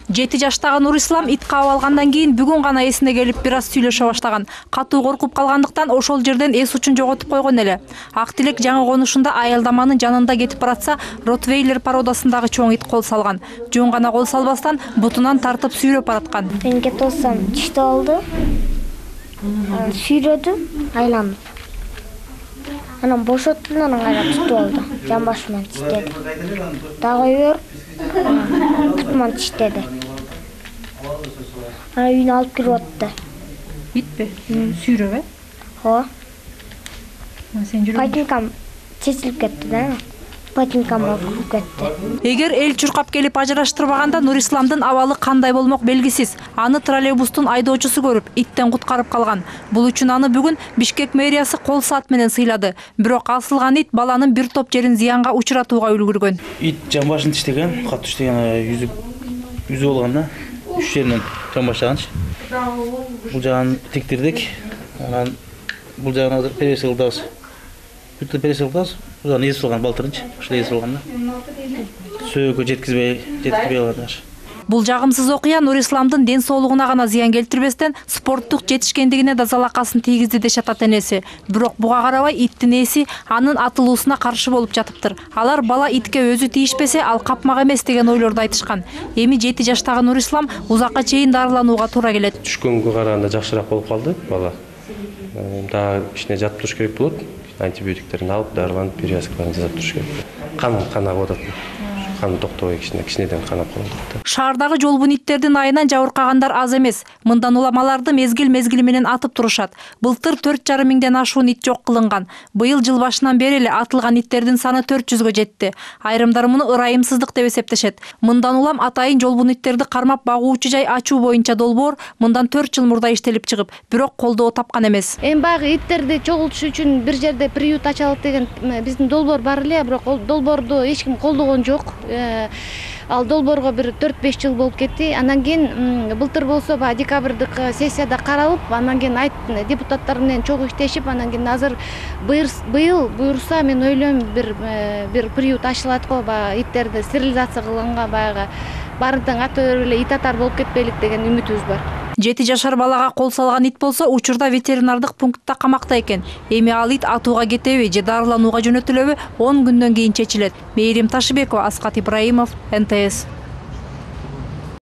7 жаштагы Нурислам ит каап алгандан кийин бүгүн гана эсине келип бир аз сүйлөшө баштаган. Катуу коркуп калгандыктан ошол жерден эс учун жоготуп койгон эле. Актилек жаңы конушунда аялдаманын жанында кетип баратса, Ротвейлер породасындагы чоң ит кол салган. Жөн гана кол салбастан бутунан тартып сүйрөп бараткан. Мен кетип алсам түштү алды. Сүйрөдү, айланып. Анан бошотту, анан кайра түтүп алды. Жамбашы менен тиштеди. Дагы бер, бутуман тиштеди. Анан үйүнө алып кирип атты. Итпи? Сүйрөп, Ооба. Сен жүрөң. Патинкам чечилип кетти да. Патинкам окуп кетти. Эгер эл чуркап келип ажыраштырбаганда Нурисламдын абалы кандай болмок белгисиз. Аны троллейбустун айдоочусу көрүп, иттен куткарып калган. Бул үчүн аны бүгүн Бишкек мэриясы кол саат менен сыйлады. Бирок асылган ит баланын бир топ жерин зыянга учуратууга үлгүргөн. Ит жамбашын тиштеген, катуу тиштеген, жүзү болгон да. 3 жеринен жамбаштаганчы. Бул жагын тектирдик. Анан бул жагына перес кылдыбыз. Бүтө перес кылдыбыз. Бул жагын эс болгон балтырынчы. Ошол эс болгон да. Сөөгө жеткизбей алган. Бул жагымсыз окуя Нурисламдын ден соолугуна гана зыян келтирбестен спорттук жетишкендигине да залакасын тийгизди дешет ата энеси. Бирок буга карабай иттин ээси анын атылуусуна каршы болуп жатыптыр. Алар бала итке өзү тийишпесе, ал капмак эмес деген ойлорду айтышкан. Эми 7 жаштагы Нурислам узакка чейин дарыланууга туура келет. Түшкөнгө караганда жакшыраак болуп калды бала. Дагы кичине жатып туруш керек болот. Антибиотиктерин алып, дарыланып, перевязкаларын жасап туруш керек. Канап атат. Каны токтобой кичинеден канап калат. Шаардагы жолбун иттердин айынан жабыркагандар аз эмес. Мындан улам аларды мезгил менен атып турушат. Былтыр 4,5 миңден ашуун ит жок кылынган. Быйыл жыл башынан бери эле атылган иттердин саны 400гө жетти. Айрымдар муну ырайымсыздык деп эсептешет. Мындан улам атайын жолбун иттерди кармап багуучу жай ачуу боюнча долбоор мындан 4 жыл мурда иштелип чыгып, бирок колдоо тапкан эмес. Эми баягы иттерди чогултуш үчүн бир жерде приют ачалык деген биздин долбоор бар эле, бирок ол долбоорду эч ким колдогон жок. Ал долбоорго бир 4-5 жыл болуп кетти. Андан кийин былтыр болсо баягы декабрдык сессияда каралып, андан кийин депутаттар менен чогуу иштешип, андан кийин азыр быйыл буюрса мен ойлойм бир приют ачылат го, баягы иттерди стерилизация кылганга баягы баарынтан ата өрүп эле ит атар болуп кетпейлик деген үмүтүбүз бар. 7 жашар балага кол салган ит болсо учурда ветеринардык пунктта камакта экен. Эми ал ит атууга кетеби же дарыланууга жөнөтүлөбү 10 күндөн кийин чечилет. Мээрим Ташыбекова, Аскат Ибраимов, НТС.